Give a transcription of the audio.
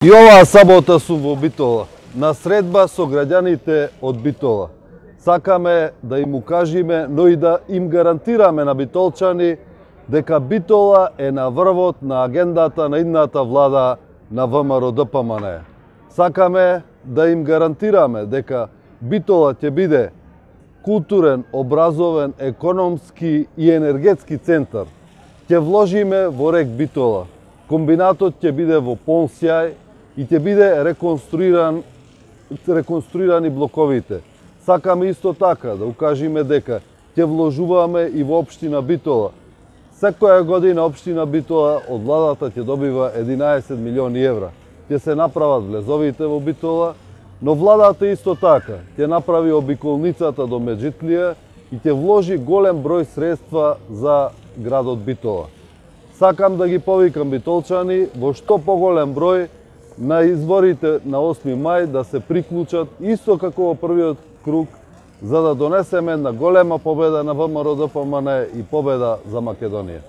И оваа сабота сум во Битола, на средба со граѓаните од Битола. Сакаме да им укажиме, но и да им гарантираме на битолчани дека Битола е на врвот на агендата на идната влада на ВМРО-ДПМНЕ. Сакаме да им гарантираме дека Битола ќе биде културен, образовен, економски и енергетски центар. Ќе вложиме во рек Битола. Комбинатот ќе биде во полн сјај и ќе биде реконструирани блоковите. Сакаме исто така да укажиме дека ќе вложуваме и во општина Битола. Секоја година општина Битола од владата ќе добива 11 милиони евра. Ќе се направат влезовите во Битола, но владата исто така ќе направи обиколницата до Меджитлија и ќе вложи голем број средства за градот Битола. Сакам да ги повикам битолчани во што поголем број на изборите на 8 мај да се приклучат исто како во првиот круг, за да донесеме една голема победа на ВМРО-ДПМНЕ и победа за Македонија.